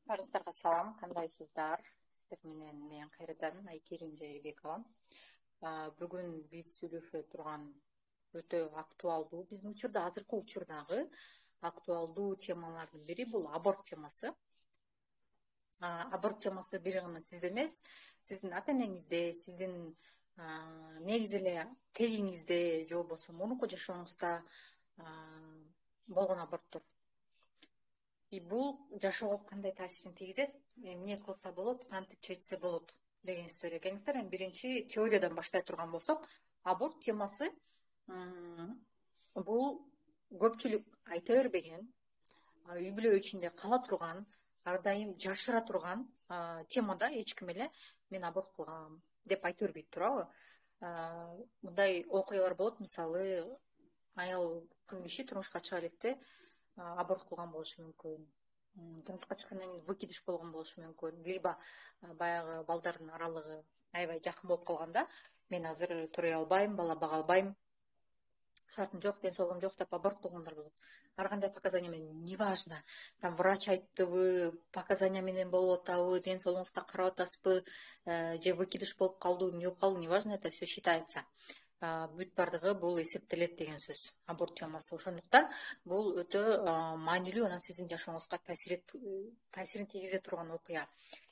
Баарыңыздарга салам, кандайсыздар? Сиздер менен мен кайрадан Айкерим Жайырбекова. Бүгүн биз сүйлөшө турган өтө актуалдуу, биздин учурда, азыркы учурдагы актуалдуу темалардын бири бул аборт темасы. Аборт темасы бир гана сизде эмес, сиздин ата энеңизде, сиздин негизи эле тегиңизде же болбосо мурунку жашооңузда болгон аборттор. Бул жашоого кандай таасирин тийгизет, эмне кылса болот, кантип чечсе болот деген история. Кеңиздер, эми биринчи теориядан баштай турган болсок, аборт темасы бул көпчүлүк айта бербеген, үй бүлө ичинде кала турган, ар дайым жашыра турган темада эч ким эле мен аборт кылгам деп айта бербейт, туурабы? Мындай окуялар болот, мисалы, аял кыз киши турмушка чыга электе аборт кылган болушу мүмкүн, турмушка чыккандан кийин выкидыш болгон болушу мүмкүн, либо баягы балдардын аралыгы аябай жакын болуп калганда, мен азыр турай албайм, бала бага албайм, шартым жок, ден соолугум жок деп аборт кылгандар болот. Ар кандай показания менен, неважно, там врач айттыбы, показания менен болуп атабы, ден соолугуңузга карап атасызбы, же выкидыш болуп калды, эмне болуп калды, неважно, это все считается. Бүт бардыгы бул эсептелет деген сөз, аборт темасы. Ошондуктан бул өтө маанилүү, анан сиздин жашооңузга таасирин тийгизе турган окуя.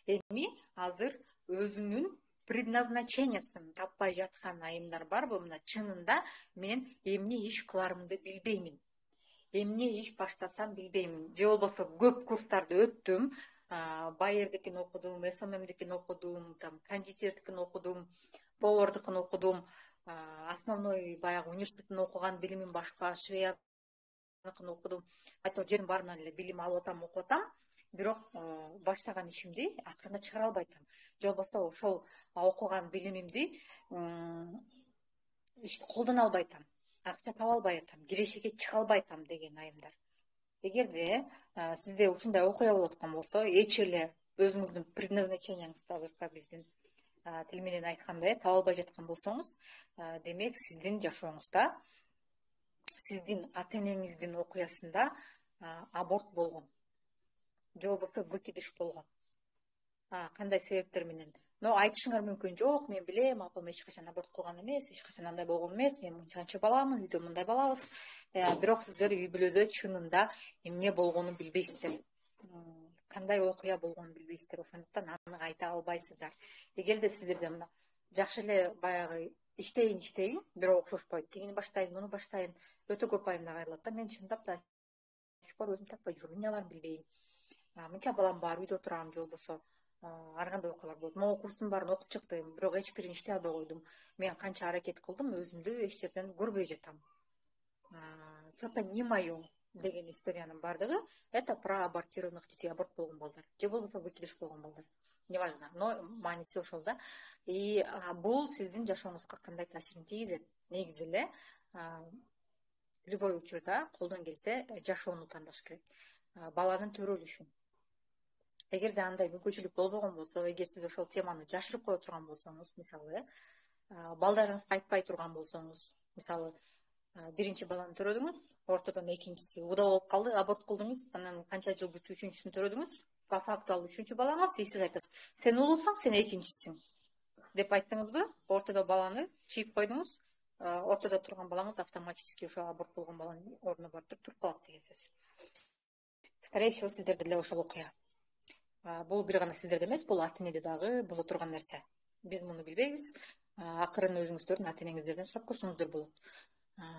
Эми азыр өзүнүн предназначениясын таппай жаткан айымдар барбы? Мына чынында мен эмне иш кыларымды билбеймин, эмне иш баштасам билбеймин, же болбосо көп курстарды өттүм, байердикин окудум, СММдикин окудум, там кондитердикин окудум, повардыкын окудум, основной баягы университеттин окуган билимим башка, швеяныкын окудум, айтор жердин баарынан эле билим алып атам, окуп атам, бирок баштаган ишимди акырында чыгара албай атам, же болбосо ошол окуган билимимди колдоно албай атам, акча таба албай атам, кирешеге чыга албай атам деген айымдар. Эгерде сизде ушундай окуя болуп аткан болсо, эч эле өзүңүздүн предназначенияңызды азыркы биздин тил менен айткандай таба албай жаткан болсоңуз, демек сиздин жашооңузда, сиздин ата энеңиздин окуясында аборт болгон, же болбосо выкидыш болгон. Кандай себептер менен? Но айтышыңар мүмкүн, жок, мен билем, апам эч качан аборт кылган эмес, эч качан андай болгон эмес, мен мынчанча баламын, үйдө мындай балабыз. Бирок сиздер үй бүлөдө чынында эмне болгонун билбейсиздер, кандай окуя болгонун билбейсиздер, ошондуктан аны айта албайсыздар. Эгерде сиздерде мына жакшы эле баягы иштейин, бирок окшошпойт, тигини баштайын, муну баштайын, өтө көп айымдар кайрылат да, мен чындап да сих пор өзүм таппай жүрүм, эмне аларымды билбейм, мынча балам бар, үйдө отурам, же болбосо ар кандай окуялар болот. Могу курстун баарын окуп чыктым, бирок эч бирин иштей албай койдум. Мен канча аракет кылдым, өзүмдү эч жерден көрбөй жатам. Что-то не мое деген историянын бардыгы это про абортированных детей, аборт болгон балдар, же болбосо выкидыш болгон балдар. Неважно, но мааниси ошол да. И бул сиздин жашооңузга кандай таасирин тийгизет? Негизи эле любой учурда колдон келсе жашоону тандаш керек, баланын төрөлүшүн. Эгерде андай мүмкүнчүлүк болбогон болсо, эгер сиз ошол теманы жашырып кое турган болсоңуз, мисалы, балдарыңызга айтпай турган болсоңуз, мисалы, биринчи баланы төрөдүңүз, ортодон экинчиси уда болуп калды, аборт кылдыңыз, анан канча жыл бүтүп үчүнчүсүн төрөдүңүз, по факту ал үчүнчү балаңыз, и сиз айтасыз, сен улуусуң, сен экинчисиң деп айттыңызбы, ортодо баланы чийип койдуңуз, ортодо турган балаңыз автоматически ошо аборт болгон баланын ордуна барып туруп калат деген сөз. Скорее всего, сиздерде деле ошол окуя. Бул бир гана сиздерде эмес, бул ата энеде дагы боло турган нерсе. Биз муну билбейбиз. Акырын өзүңүздөрдүн ата энеңиздерден сурап көрсөңүздөр болот.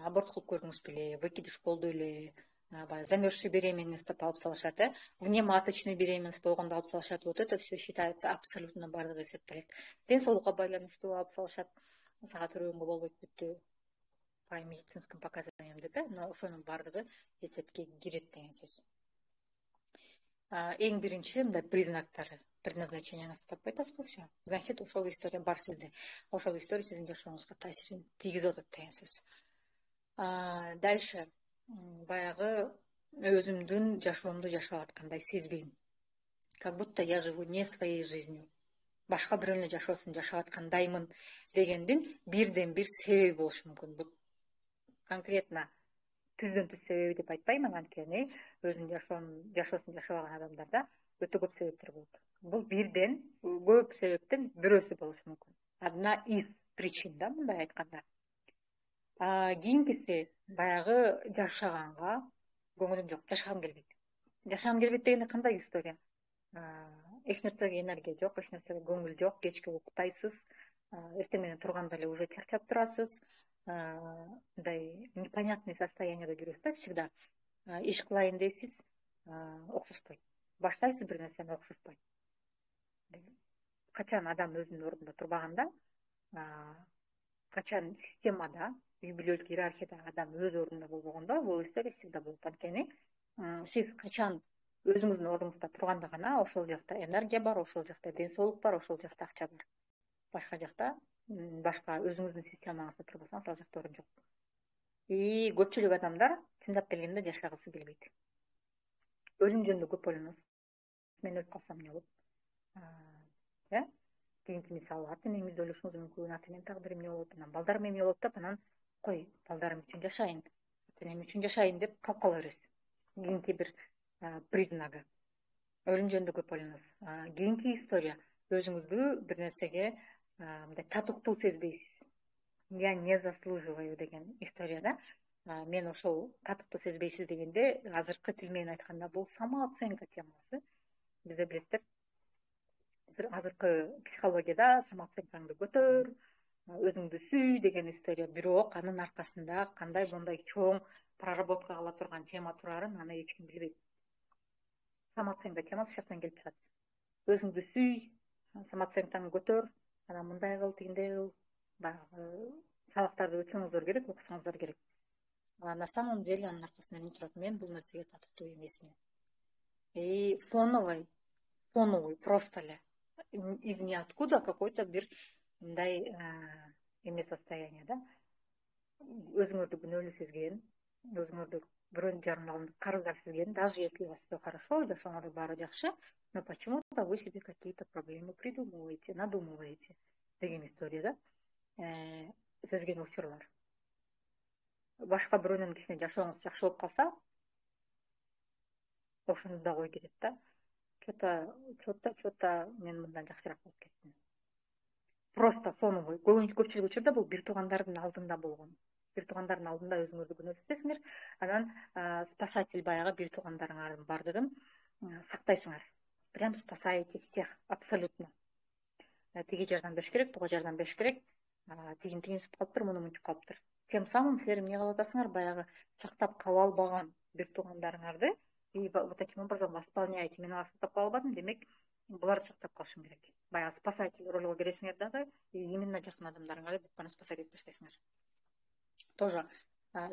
Аборт кылып көрдүңүз беле, выкидыш болду эле, баягы замерзший беременность деп алып салышат, внематочный беременность болгондо алып салышат. Вот это все считается абсолютно бардыгы эсептелет. Ден соолукка байланыштуу алып салышат, сага төрөгөнгө болбойт бүттү по медицинским показаниям деп, но ошонун бардыгы эсепке кирет деген сөз. Эң биринчи мындай признактары, предназначенияңызды таппай атасызбы, все. Значит, ошол история бар сизде. Ошол история сиздин жашооңузга таасирин тийгизип атат деген сөз. Дальше баягы өзүмдүн жашоомду жашап аткандай сезбейм. Как будто я живу не своей жизнью. Башка бирөөнүн жашоосун жашап аткандаймын дегендин бирден бир себеби болушу мүмкүн. Бул конкретно түздөн түз себеби деп айтпайм, анткени өзүнүн жашоосун жашабаган адамдарда өтө көп себептер болот. Бул бирден көп себептен бирөөсү болушу мүмкүн. Одна из причин да, мындай айтканда. Кийинкиси баягы жашаганга көңүлүм жок, жашагым келбейт. Жашагым келбейт дегенде кандай история? Эч нерсеге энергия жок, эч нерсеге көңүл жок, кечке уктайсыз, эртең менен турганда эле уже чарчап турасыз. Мындай непонятный состоянияда жүрөсүз да всегда. Иш кылайын дейсиз, окшошпойт. Баштайсыз бир нерсени, окшошпойт. Качан адам өзүнүн ордунда турбаганда, качан системада, үй бүлөлүк иерархияда адам өз ордунда болбогондо, бул история всегда болот. Анткени сиз качан өзүңүздүн ордуңузда турганда гана ошол жакта энергия бар, ошол жакта ден соолук бар, ошол жакта акча бар. Башка жакта, башка өзүңүздүн системаңызда турбасаңыз, ал жакта орун жок. Көпчүлүк адамдар чындап келгенде жашагысы келбейт. Өлүм жөнүндө көп ойлоносуз. Мен өлүп калсам эмне болот? Кийинки мисалы ата энеңиз өлүшүңүз мүмкүн, ата эненин тагдыры эмне болот, анан балдарым эмне болот деп, анан кой, балдарым үчүн жашайын, ата энем үчүн жашайын деп калып кала бересиз. Кийинки бир признагы. Өлүм жөнүндө көп ойлоносуз. Кийинки история, өзүңүздү бир нерсеге мындай татыктуу сезбейсиз. Я не заслуживаю деген историяда. Мен ошол татыктуу сезбейсиз дегенде, азыркы тил менен айтканда, бул самооценка темасы. Бизде билесиздер, азыркы психологияда самооценкаңды көтөр, өзүңдү сүй деген история. Бирок анын аркасында кандай мындай чоң проработка кыла турган тема турарын аны эч ким билбейт. Самооценка темасы шактан келип чыгат. Өзүңдү сүй, самооценкаңды көтөр, анан мындай кыл, тигиндей кыл, баягы сабактарды өтсөңүздөр керек, окусоңуздар керек. На самом деле анын аркасында эмне турат? Мен бул нерсеге татыктуу эмесмин. Фоновый просто эле из ниоткуда какой-то бир мындай эме состояние да. Өзүңөрдү күнөөлүү сезген, өзүңөрдү бирөөнүн жарымдан карыздар сезген, даже если у вас все хорошо, жашооңордо баары жакшы, но почему-то вы себе какие-то проблемы придумываете, надумываете деген история да. Сезген учурлар. Башка бирөөнүн кичине жашооңуз жакшы болуп калса, ошону да ой кетет да. Чо-то мен мындан жакшыраак болуп кеттим. Просто фоновый. Көпчүлүк учурда бул бир туугандардын алдында болгон. Бир туугандардын алдында өзүңөрдү күнөөлүү сезесиңер, анан спасатель баягы бир туугандарыңардын баардыгын сактайсыңар. Прям спасаете всех абсолютно. Тиги жардам бериш керек, буга жардам бериш керек. Тигин сүп калыптыр, муну мынтип калыптыр. Тем самым силер эмне кылып атасыңар? Баягы сактап кала албаган бир туугандарыңарды и вот таким образом восполняете. Мен аларды сактап кала албадым, демек буларды сактап калышым керек. Баягы спасатель ролго киресиңер дагы, именно жакын адамдарыңарды бүт бааны спасать этип баштайсыңар. Тоже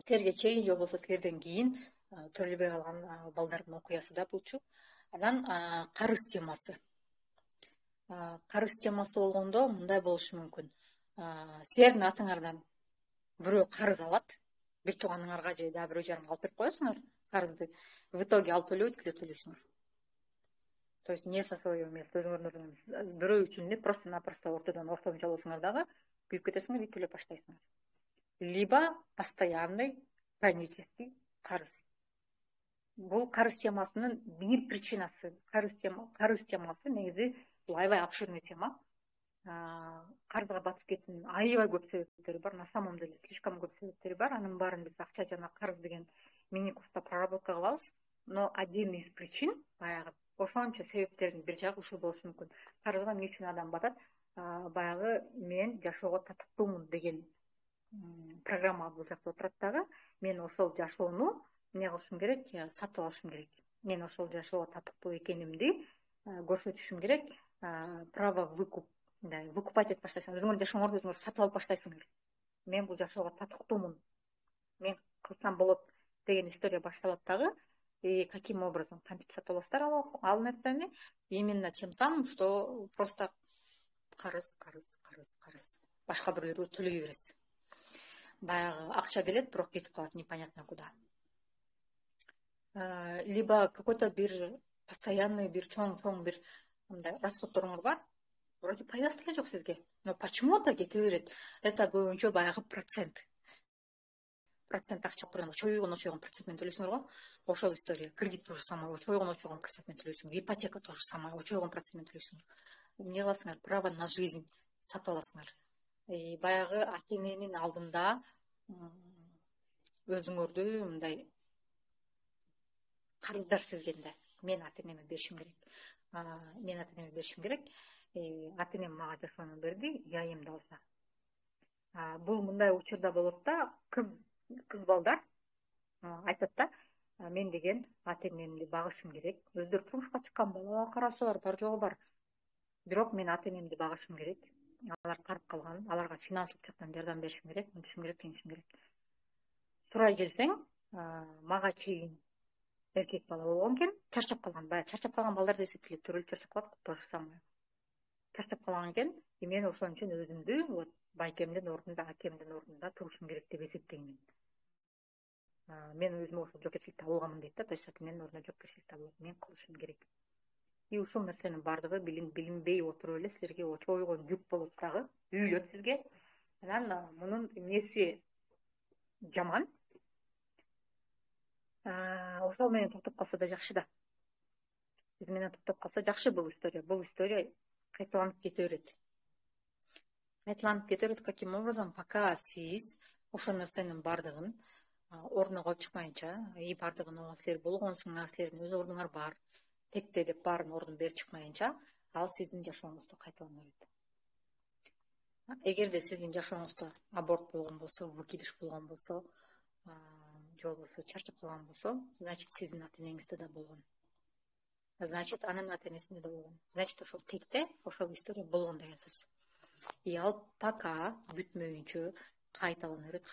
силерге чейин же болбосо силерден кийин төрөлбөй калган балдардын окуясы да булчу. Анан карыз темасы. Карыз темасы болгондо мындай болушу мүмкүн. Силердин атыңардан бирөө карыз алат, бир тууганыңарга же да бирөө жарымга алып берип коесуңар карызды. В итоге алып төлөбөйт, силер төлөйсүңөр. То есть не со своего места, өзүңөрдүн бирөө үчүн эле просто-напросто ортодон жалоосуңар дагы күйүп кетесиңер и төлөп баштайсыңар. Либо постоянный хронический карыз. Бул карыз темасынын бир причинасы. Карыз темасы негизи бул аябай обширный тема. Карызга батып кетүүнүн аябай көп себептери бар. На самом деле слишком көп себептери бар. Анын баарын биз акча жана карыз деген мини-курста проработка кылабыз. Но один из причин баягы ошончо себептердин бир жагы ушул болушу мүмкүн. Карызга эмне үчүн адам батат? Баягы мен жашоого татыктуумун деген программа бул жакта отурат дагы. Мен ошол жашоону эмне кылышым керек? Сатып алышым керек. Мен ошол жашоого татыктуу экенимди көрсөтүшүм керек. Право выкуп. Выкупать этип баштайсыңар. Өзүңөрдүн жашооңорду өзүңөр сатып алып баштайсыңар. Мен бул жашоого татыктуумун. Мен кылсам болот деген история башталат дагы. И каким образом? Кантип сатып аласыздар ал нерсени? Именно тем самым, что просто карыз. Башка бирөөгө төлөй бересиз. Баягы акча келет, бирок кетип калат непонятно куда. Либо какой-то бир постоянный бир чоң бир мындай расходторуңур бар. Вроде пайдасы деле жок сизге, но почему-то кете берет. Это көбүнчө баягы процент. процент акча турган очойгон процент менен төлөйсүңөр го. Ошол история. Кредит то же самое, очойгон процент менен төлөйсүңөр. Ипотека то же самое, очойгон процент менен төлөйсүңөр. Эмне кыласыңар? Право на жизнь сатып аласыңар. Баягы ата-эненин алдында өзүңөрдү мындай карыздар сезгенде, мен ата-энеме беришим керек. Ата-энем мага жашоону берди, айым да алса. Бул мындай учурда болот да, кыз балдар айтат да, мен деген ата-энемди багышым керек. Өздөрү турмушка чыккан, бала карасы бар жогу бар. Бирок мен ата-энемди багышым керек. Алар карып калган, аларга финансылык жактан жардам беришим керек, мынтишим керек, тигинтишим керек. Сурай келсең, мага чейин эркек бала болгон экен, чарчап калган. Баягы чарчап калган балдар эсептелет, төрөлүп чарчап калат, то же самое. Чарчап калган экен, мен ошон үчүн өзүмдү вот байкемдин ордунда, акемдин ордунда турушум керек деп эсептеймин. Мен өзүмө ошол жоопкерчиликти алгамын дейт да, то есть менин ордуна жоопкерчиликти алып, мен кылышым керек. И ушул нерсенин бардыгы билинбей отуруп эле силерге очойгон жүк болуп дагы үйүлөт сизге. Анан мунун эмеси жаман. Ошол менен токтоп калса да жакшы да. Биз менен токтоп калса жакшы бул история. Бул история кайталанып кете берет. Каким образом, пока сиз ошол нерсенин бардыгын ордуна коюп чыкмайынча, бардыгын ооба силер болгонсуңар, силердин өз ордуңар бар, текте деп баарын ордун берип чыкмайынча, ал сиздин жашооңузду кайталана берет. Эгерде сиздин жашооңузда аборт болгон болсо, выкидыш болгон болсо, же болбосо чарчап калган болсо, значит сиздин ата-энеңизде да болгон. Значит анын ата-энесинде да болгон. Значит ошол текте ошол история болгон деген сөз. И ал пока бүтмөйүнчө кайталана берет.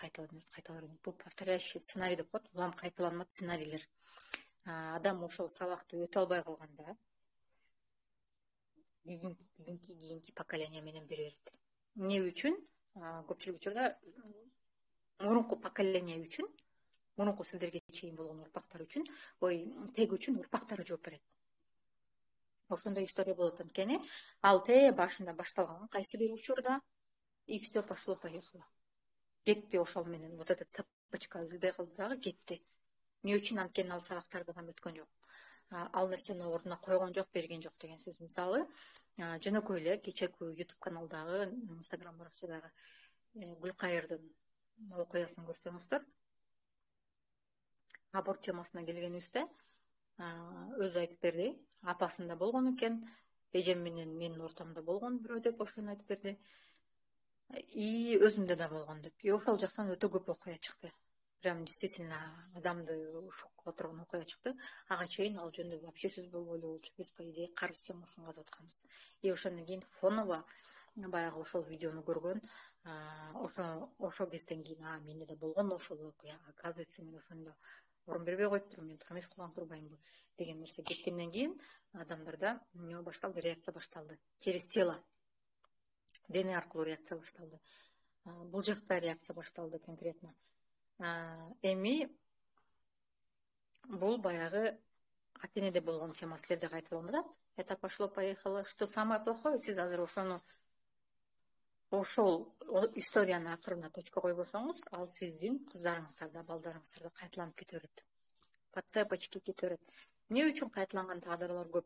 Бул повторяющий сценарий деп коет. Улам кайталанма сценарийлер. Адам ошол сабакты өтө албай калганда кийинки поколение менен бере берет. Эмне үчүн? Көпчүлүк учурда мурунку поколение үчүн, мурунку сиздерге чейин болгон урпактар үчүн, тег үчүн урпактары жооп берет. Ошондой история болот анткени ал башында башталган кайсы бир учурда, и все пошло-поехало. Кетти ошол менен, вот этот цепочка үзүлбөй калды дагы кетти. Эмне үчүн? Анткени ал сабактарды да өткөн жок. Ал нерсени ордуна койгон жок, берген жок деген сөз. Мисалы, жөнөкөй эле кечээки YouTube каналдагы, Instagram баракчадагы Гүлкайырдын окуясын көрсөңүздөр, аборт темасына келгенибизде, өзү айтып берди. Апасында болгон экен, эжем менен менин ортомдо болгон бирөө деп ошону айтып берди. И өзүмдө да болгон деп. И ошол жактан өтө көп окуя чыкты. Прям действительно адамды шокко турган окуя чыкты. Ага чейин ал жөнүндө вообще сөз болбой эле болчу. Биз по идее карыз темасын казып атканбыз. И ошондон кийин фоново баягы ошол видеону көргөн, ошол кезден кийин менде да болгон ошол окуя. Оказывается, мен ошондо орун бербей коюптурмун, мен туура эмес кылган турбаймынбы деген нерсе кеткенден кийин адамдарда эмне башталды? Реакция башталды. Через тело. Дене аркылуу реакция башталды. Бул жакта реакция башталды конкретно. Эми бул баягы ата-энеде болгон тема силерде кайталанып атат. Это пошло-поехало. Что самое плохое? Сиз азыр ошол историяны акырына точка койбосоңуз, ал сиздин кыздарыңыздарда, балдарыңыздарда кайталанып кете берет. По цепочке кете берет. Эмне үчүн кайталанган тагдырлар көп?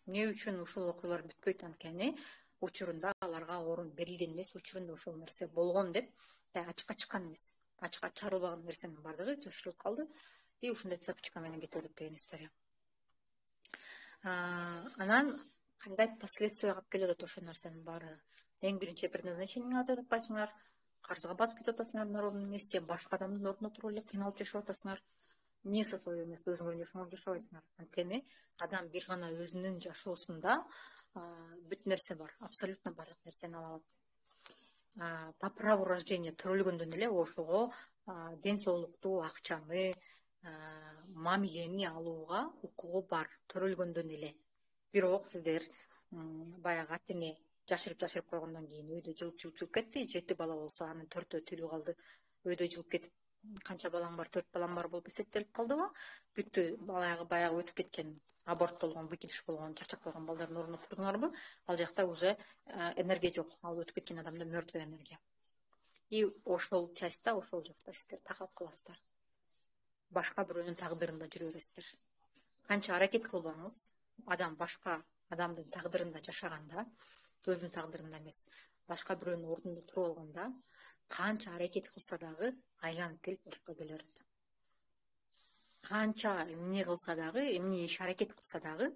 Эмне үчүн ушул окуялар бүтпөйт? Анткени учурунда аларга орун берилген эмес, учурунда ошол нерсе болгон деп ачыкка чыккан эмес. Ачыкка чыгарылбаган нерсенин бардыгы жашырылып калды. И ушундай цепочка менен кете берет деген история. Анан кандай последствия алып келип атат ошол нерсенин баары? Эң биринчи предназначениеңи өтөп атпайсыңар, карызга батып кетип атасыңар на ровном месте, башка адамдын ордуна туруп эле кыйналып жашап атасыңар. Не со своего места өзүңөрдүн жашооңузду жашабайсыңар. Анткени адам бир гана өзүнүн жашоосунда бүт нерсе бар, абсолютно бардык нерсени ала алат. По праву рождения төрөлгөндөн эле ошого ден соолукту, акчаны, мамилени алууга укугу бар, төрөлгөндөн эле. Бирок сиздер баягы ата-эне жашырып койгондон кийин өйдө жылып кетти. 7 бала болсо анын 4-өө тирүү калды. Өйдө жылып кетип, канча балаң бар? 4 балам бар болуп эсептелип калдыбы? Бүттү, баягы өтүп кеткен, аборт болгон, выкидыш болгон, чарчап койгон балдардын ордуна турдуңарбы? Ал жакта уже энергия жок. Ал өтүп кеткен адамда мертвая энергия. И ошол частта, ошол жакта сиздер такап каласыздар. Башка бирөөнүн тагдырында жүрө бересиздер. Канча аракет кылбаңыз, адам башка адамдын тагдырында жашаганда, өзүнүн тагдырында эмес, башка бирөөнүн ордунда туруп алганда, канча аракет кылса дагы айланып келип ошко келе берет. Канча эмне кылса дагы, эмне иш аракет кылса дагы,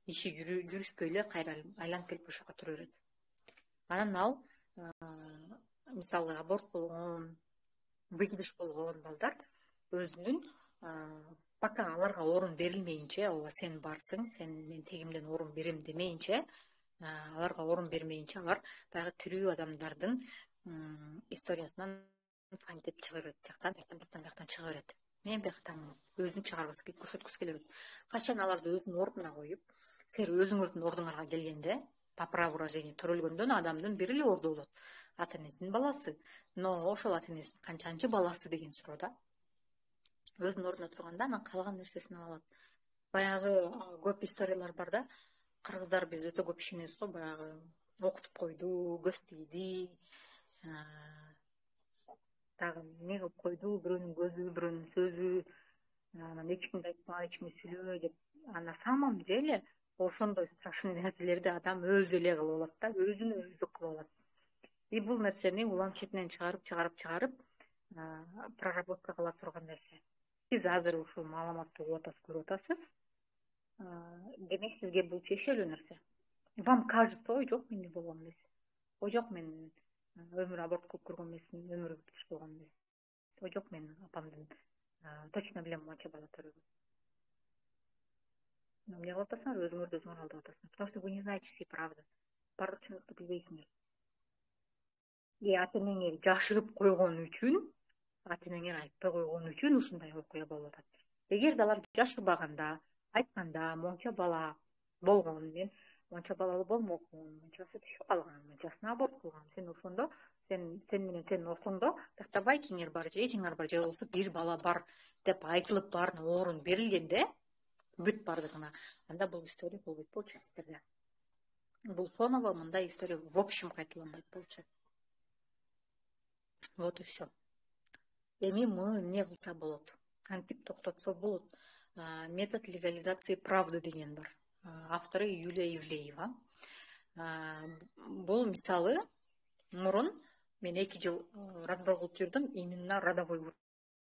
иши жүрүшпөй эле кайра айланып келип ошого тура берет. Анан ал мисалы аборт болгон, выкидыш болгон балдар өзүнүн пока аларга орун берилмейинче, ооба сен барсың, сен мен тегимден орун берем демейинче, аларга орун бермейинче алар баягы тирүү адамдардын историясынан фантип чыга берет, жактан чыга берет. Мен бияктан өзүн чыгаргысы келип, көрсөткүсү келе берет. Качан аларды өзүнүн ордуна коюп, силер өзүңөрдүн ордуңарга келгенде, по праву рождения төрөлгөндөн адамдын бир эле орду болот. Ата энесинин баласы. Но ошол ата энесинин канчанчы баласы деген суроо да. Өзүнүн ордуна турганда анан калган нерсесин ала алат. Баягы көп историялар бар да. Кыргыздар биз өтө көп ишенебиз го, баягы окутуп койду, көз тийди, дагы эмне кылып койду, бирөөнүн көзү, бирөөнүн сөзү, анан эч кимди айтпа, эч кимди сүйлөбө деп. На самом деле ошондой страшный нерселерди адам өзү эле кылып алат да, өзүнө өзү кылып алат. И бул нерсени улам четинен чыгарып проработка кыла турган нерсе. Сиз азыр ушул маалыматты угуп атасыз, көрүп атасыз. Демек сизге бул тиешелүү нерсе. Вам кажется, ой жок, менде болгон эмес. Ой жок, мен өмүр аборт кылып көргөн эмесмин, өмүр бүткүч болгон эмес. Ой жок, мен апамдын точно билем монча бала төрөгөн. Эмне кылып атасыңар? Өзүңөрдү өзүңөр алдап атасыңар. Потому что вы не знаете всей правды. Бардык чындыкты билбейсиңер. И ата энеңер жашырып койгон үчүн, ата энеңер айтпай койгон үчүн ушундай окуя болуп атат. Эгерде алар жашырбаганда, айтканда монча бала болгон, мен монча балалуу болмокмун, мончасы түшүп калган, мончасына аборт кылган. Сен ошондо, сен менен сенин ортоңдо тактабайкиңер бар же эжиңер бар, же болбосо бир бала бар деп айтылып баарына орун берилгенде, бүт бардыгына, анда бул история болбойт болчу сиздерде. Бул фоново мындай история в общем кайталанбайт болчу. Вот и все. Эми муну эмне кылса болот? Кантип токтотсо болот? Метод легализации правды деген бар. Автору Юлия Ивлеева. Бул мисалы мурун мен 2 жыл разбор кылып жүрдүм именно родовой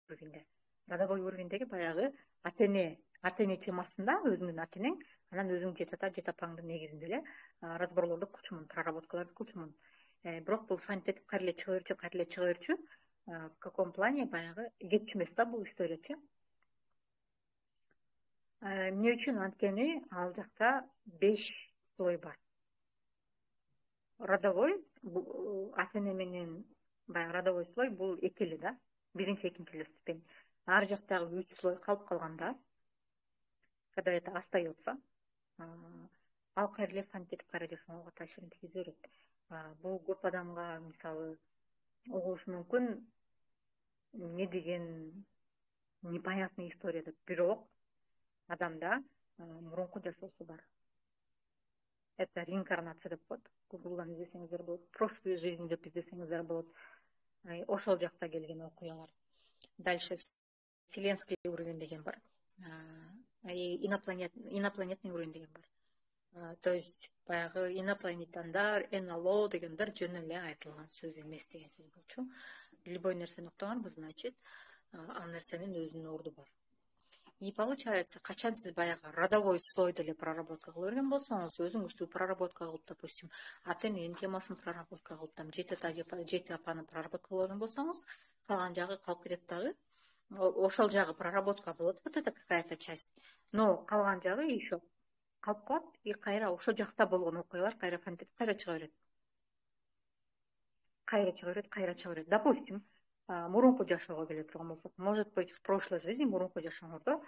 уровеньде. Родовой уровеньдеги баягы ата эне темасында өзүңдүн ата энең, анан өзүң жет ата, жет апаңдын негизинде эле разборлорду кылчумун, проработкаларды кылчумун. Бирок бул фантип кайра эле чыга берчү. В каком плане баягы кетчү эмес да бул историячы. Эмне үчүн? Анткени ал жакта 5 слой бар. Родовой ата эне менен баягы родовой слой бул эки эле да. Биринчи, экинчи эле ступень. Ар жактагы 3 слой калып калганда, когда это остается, ал кайра эле фантип кайра жашоого таасирин тийгизе берет. Бул көп адамга мисалы угулушу мүмкүн, эмне деген непонятный история деп. Бирок адамда мурунку жашоосу бар. Это реинкарнация деп коет. Гуглдан издесеңиздер болот. Прошлые жизни деп издесеңиздер болот. Ошол жакта келген окуялар. Дальше вселенский уровень деген бар. Инопланетный уровень деген бар. То есть баягы инопланетяндар, НЛО дегендер жөн эле айтылган сөз эмес деген сөз болчу. Любой нерсени уктаганбыз, значит, ал нерсенин өзүнүн орду бар. И получается, качан сиз баягы родовой слойду эле проработка кыла берген болсоңуз, өзүңүздү проработка кылып, допустим, ата эненин темасын проработка кылып, там жет ата, жет апаны проработка кыла берген болсоңуз, калган жагы калып кетет дагы. Ошол жагы проработка болот, вот это какая-то часть. Но калган жагы еще калып калат, и кайра ошол жакта болгон окуялар кайра фантип кайра чыга берет. Кайра чыга берет. Допустим, мурунку жашоого келе турган болсок, может быть, в прошлой жизни мурунку жашооңордо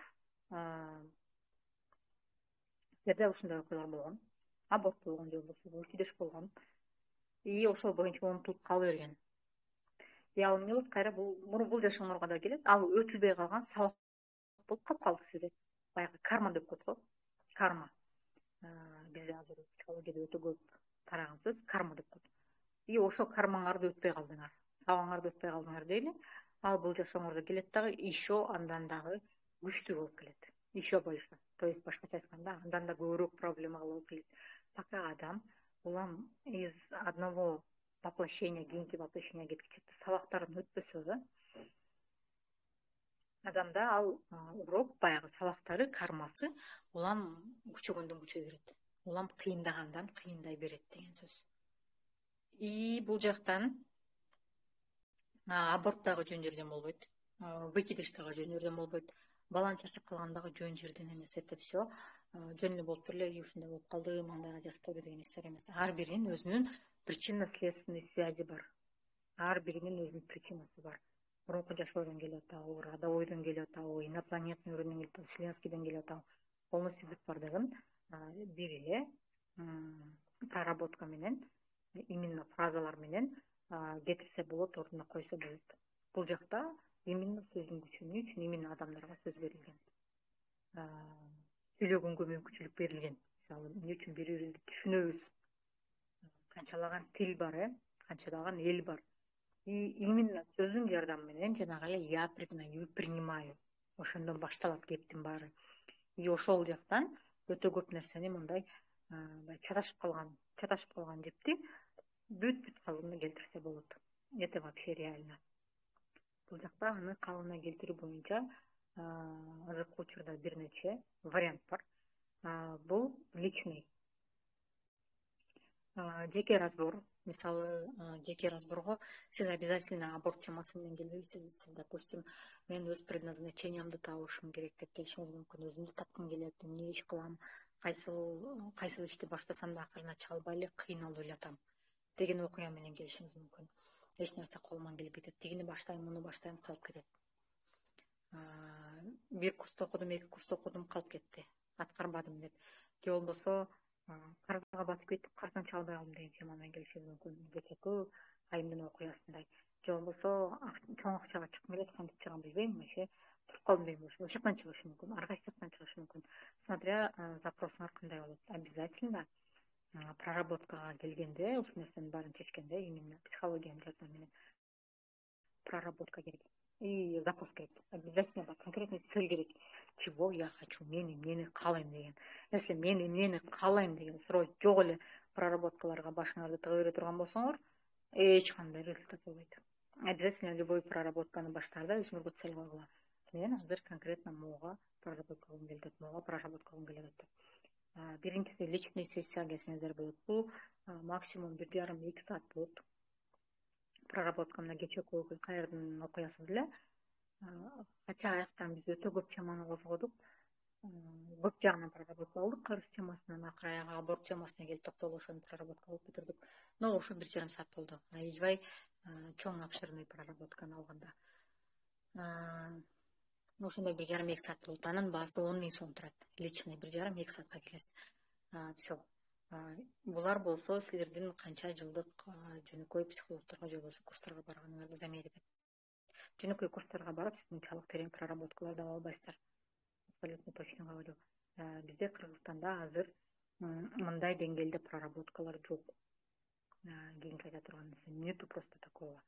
силерде ушундай окуялар болгон, аборт болгон же болбосо выкидыш болгон, и ошол боюнча унутулуп кала берген. И ал эмне болот? Кайра бул жашооңорго да келет. Ал өтүлбөй калган сабак болуп калып калды сизде. Баягы карма деп коет го. Карма. Бизде азыр психологияда өтө көп тараган сөз карма деп коет. И ошол кармаңарды өтпөй калдыңар. табаңарды өтпөй калдыңар дейли. Ал бул жашооңордо келет дагы еще андан дагы күчтүү болуп келет. Еще больше. То есть башкача айтканда андан да көбүрөөк проблемага болуп келет. Пока адам улам из одного воплощения кийинки воплощенияга кеткиче сабактарын өтпөсө да, адамда ал урок баягы сабактары кармасы улам күчөгөндөн күчөй берет. Улам кыйындагандан кыйындай берет деген сөз. И бул жактан аборт дагы жөн жерден болбойт, выкидыш дагы жөн жерден болбойт, баланы чачып калган дагы жөн жерден эмес. Это все жөн эле болуп туруп эле ушундай болуп калды, мындайга жазып койду деген история эмес. Ар биринин өзүнүн причинно-следственный связи бар. Ар биринин өзүнүн причинасы бар. Мурунку жашоодон келип атабы, родовойдон келип атабы, инопланетный уровеньден келип атабы, вселенскийден келип атабы. Полностью бүт бардыгын бир эле проработка менен, именно фразалар менен кетирсе болот, ордуна койсо болот. Бул жакта именно сөздүн күчүнү үчүн именно адамдарга сөз берилген. Сүйлөгөнгө мүмкүнчүлүк берилген. Мисалы, эмне үчүн бири бирибизди түшүнөбүз. Канчалаган тил бар, канчалаган эл бар. И именно сөздүн жардамы менен жанагы эле я признаю, принимаю. Ошондон башталат кептин баары. И ошол жактан өтө көп нерсени мындай чаташып калган жепти бүт калыбына келтирсе болот. Это вообще реально. Бул жакта аны калыбына келтирүү боюнча азыркы учурда бир нече вариант бар. Бул личный жеке разбор. Мисалы, жеке разборго сиз обязательно аборт темасы менен келбейсиз. Сиз, допустим, мен өз предназначениямды табышым керек деп келишиңиз мүмкүн. Өзүмдү тапкым келет, эмне иш кылам, кайсыл ишти баштасам да акырына чыга албай эле кыйналып эле деген окуя менен келишиңиз мүмкүн. Эч нерсе колуман келбей атат. Тигини баштайм, муну баштайм, калып кетет. Бир курста окудум, 2 курста окудум, калып кетти. Аткарбадым деп. Же болбосо карызга батып кетип, карыздан чыга албай калдым деген тема менен келишиңиз мүмкүн. Кечээкү айымдын окуясындай. Же болбосо чоң акчага чыккым келет, кантип чыгам билбейм, вообще туруп калдым деген болушу. Ошол жактан чыгышы мүмкүн, ар кайсы жактан чыгышы мүмкүн. Смотря запросуңар кандай болот. Обязательно проработкага келгенде, ушул нерсенин баарын чечкенде, именно психологиянын жардамы менен проработка керек. И запрос керек. Обязательно конкретный цель керек. Чего я хочу, мен эмнени каалайм деген. Если мен эмнени каалайм деген суроо жок эле проработкаларга башыңарды тыга бере турган болсоңор, эч кандай результат болбойт. Обязательно любой проработканы баштаарда өзүңөргө цель койгула. Мен азыр конкретно могуга проработка кылгым келет, могуга проработка кылгым келет деп. Биринчиси личный сессия келсеңиздер болот. Бул максимум 1,5-2 саат болот. Проработка мына кечээкү кайрдын окуясы деле. Хотя аяктан биз өтө көп теманы козгодук. Көп жагынан проработка кылдык, карыз темасынан акыры аягы аборт темасына келип токтолуп ошону проработка кылып бүтүрдүк. Но ошо 1,5 саат болду. Аябай чоң обширный проработканы алганда. Ошондой 1,5-2 саат болот. Анын баасы 10 000 сом турат. Личный 1,5-2 саатка келесиз. Все. Булар болсо силердин канча жылдык жөнөкөй психологторго же болбосо курстарга барганыңарды замер этет. Жөнөкөй курстарга барып, сиз мынчалык терең проработкаларды ала албайсыздар. Абсолютно точно говорю. Бизде Кыргызстанда азыр мындай деңгээлде проработкалар жок. Кийинки айта турган нерсе нету просто такого.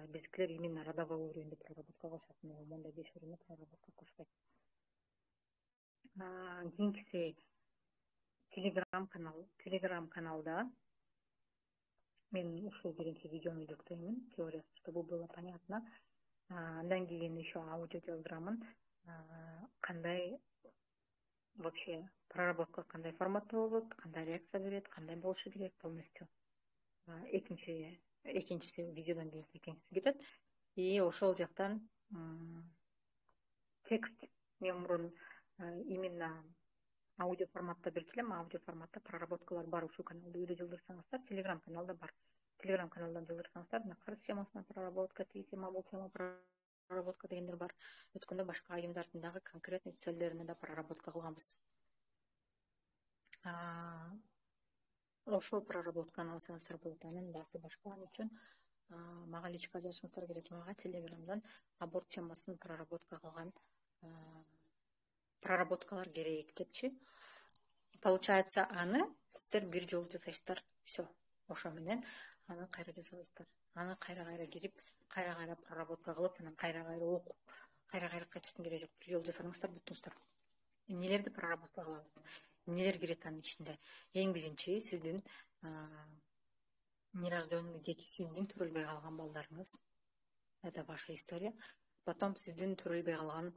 Биздикилер именно родовой уровеньде проработка кылышат. Мондай 5 уровеньде проработка кылышпайт. Кийинкиси Telegram каналда мен ушул биринчи видеону жүктөймүн, теориясы, чтобы было понятно. Андан кийин еще аудио жаздырамын. Кандай вообще проработка кандай форматта болот, кандай реакция берет, кандай болушу керек полностью. Экинчиси видеодон кийин экинчиси кетет. И ошол жактан текст мен мурун именно аудио форматта берчү элем. Аудио форматта проработкалар бар ушул каналда. Үйдө жылдырсаңыздар, Telegram каналда бар. Telegram каналдан жылдырсаңыздар, мына карыз темасына проработка, тиги тема, бул тема проработка дегендер бар. Өткөндө башка айымдардын дагы конкретный целдерине да проработка кылганбыз. Ошол проработканы алсаңыздар болот. Анын баасы башка. Ал үчүн мага личка жазышыңыздар керек. Мага Telegramдан аборт темасын проработка кылган проработкалар керек депчи. Получается, аны сиздер бир жолу жасайсыздар. Все. Ошо менен аны кайра жасабайсыздар. аны кайра кирип, кайра проработка кылып, анан кайра окуп, кайра кайтыштын кереги жок. Бир жолу жасасаңыздар бүттүңүздөр. Эмнелерди проработка кылабыз? Эмнелер кирет анын ичинде? Эң биринчи сиздин нерожденный дети, сиздин төрөлбөй калган балдарыңыз. Это ваша история. Потом сиздин төрөлбөй калган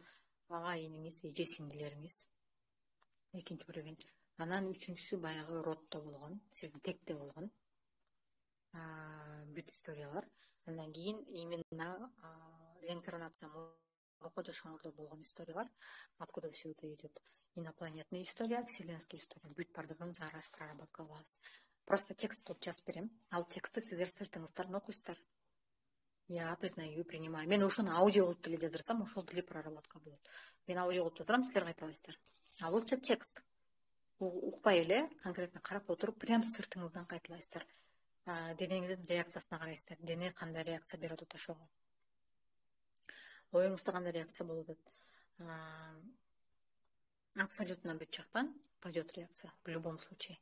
ага иниңиз, эже сиңдилериңиз. Экинчи уровень. Анан үчүнчүсү баягы роддо болгон, сиздин текте болгон бүт историялар. Андан кийин именно реинкарнация мурунку жашооңордо болгон историялар. Откуда все это идет? Инопланетная история, вселенская история. Бүт бардыгын зараз проработка кылабыз. Просто текст кылып жазып берем. Ал текстти сиздер сыртыңыздан окуйсуздар. Я признаю, принимаю. Мен ошону аудио кылып деле жаздырсам, ошол деле проработка болот. Мен аудио кылып жаздырам, силер кайталайсыздар. А лучше текст. Укпай эле конкретно карап отуруп, прям сыртыңыздан кайталайсыздар. Денеңиздин реакциясына карайсыздар. Дене кандай реакция берип атат ошого. Оюңузда кандай реакция болуп атат. Абсолютно бүт жактан пойдет реакция в любом случае.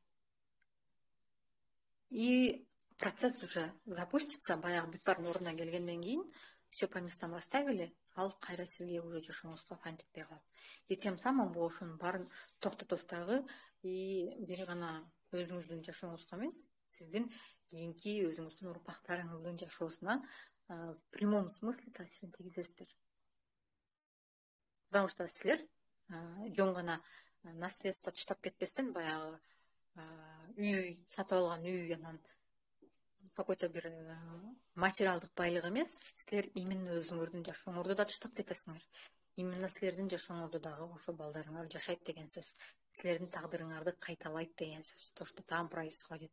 И процесс уже запустится, баягы бүт баардын ордуна келгенден кийин, все по местам расставили, ал кайра сизге уже жашооңузга файт этпей калат. И тем самым бул ошонун баарын токтотосуз дагы, и бир гана өзүңүздүн жашооңузга эмес, сиздин кийинки өзүңүздүн урпактарыңыздын жашоосуна в прямом смысле таасирин тийгизесиздер. Потому что силер жөн гана наследство таштап кетпестен, баягы үй сатып алган үй, анан какой-то бир материалдык байлык эмес, силер именно өзүңөрдүн жашооңорду да таштап кетесиңер. Именно силердин жашооңордо дагы ошо балдарыңар жашайт деген сөз. Силердин тагдырыңарды кайталайт деген сөз. То, что там происходит,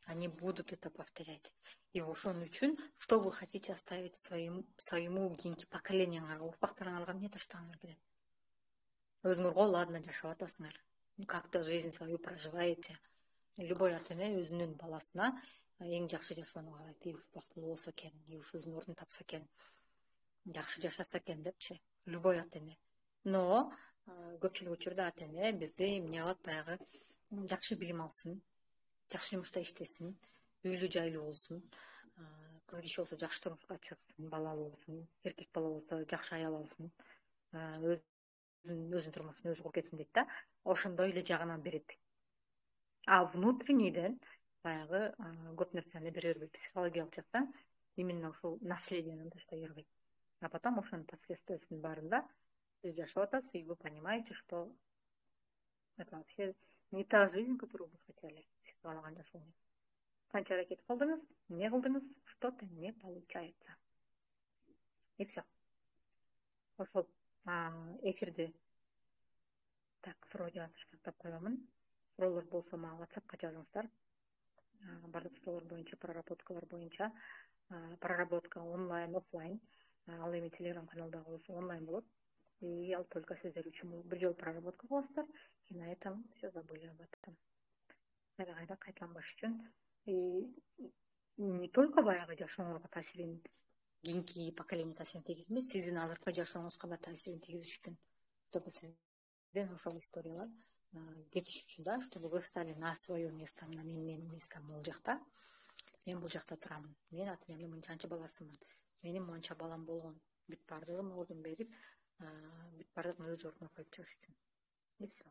они будут это повторять. И ошон үчүн, что вы хотите оставить своему кийинки поколениеңарга, урпактарыңарга эмне таштагыңар келет? Өзүңөр го ладно жашап атасыңар, как-то жизнь свою проживаете. Любой ата-эне өзүнүн баласына эң жакшы жашоону каалайт. И уж бактылуу болсо экен, и уж өзүнүн ордун тапса экен, жакшы жашаса экен депчи. Любой ата-эне. Но көпчүлүк учурда ата-эне бизди эмне кылат, баягы жакшы билим алсын, жакшы жумушта иштесин, үйлүү жайлуу болсун, кыз киши болсо жакшы турмушка чыксын, балалуу болсун, эркек бала болсо жакшы аял алсын, өзүнүн турмушун өзү куруп кетсин дейт да. Ошондой эле жагынан берет. А внутреннийден баягы көп нерсени бере бербейт. Психологиялык жактан именно ушул наследияны таштай бербейт. А потом ошонун последствиясынын баарында сиз жашап атасыз, и вы понимаете, что это вообще не та жизнь, которую вы хотели. Сиз каалаган жашоо. Канча аракет кылдыңыз, эмне кылдыңыз, что-то не получается. И все. Ошол эфирди так вроде таштап коемун. Суроолор болсо мага WhatsAppка жазыңыздар. Бардык суроолор боюнча, проработкалар боюнча, проработка онлайн, офлайн. Ал эми Telegram каналдагы болсо онлайн болот. И ал только сиздер үчүн бир жолу проработка кыласыздар, и на этом все забыли об этом. Кайра кайталанбаш үчүн, и не только баягы жашооңорго таасирин, кийинки поколение таасирин тийгизбей, сиздин азыркы жашооңузга да таасирин тийгизиш үчүн, чтобы сизден ошол историялар кетиш үчүн да, чтобы вы стали на свое место, на менин местом бул жакта. Мен бул жакта турам. Мен ата-энемдин мынчанча баласымын. Менин монча балам болгон. Бүт бардыгын ордун берип, бүт бардыгын өз ордуна коюп чыгыш үчүн. И все.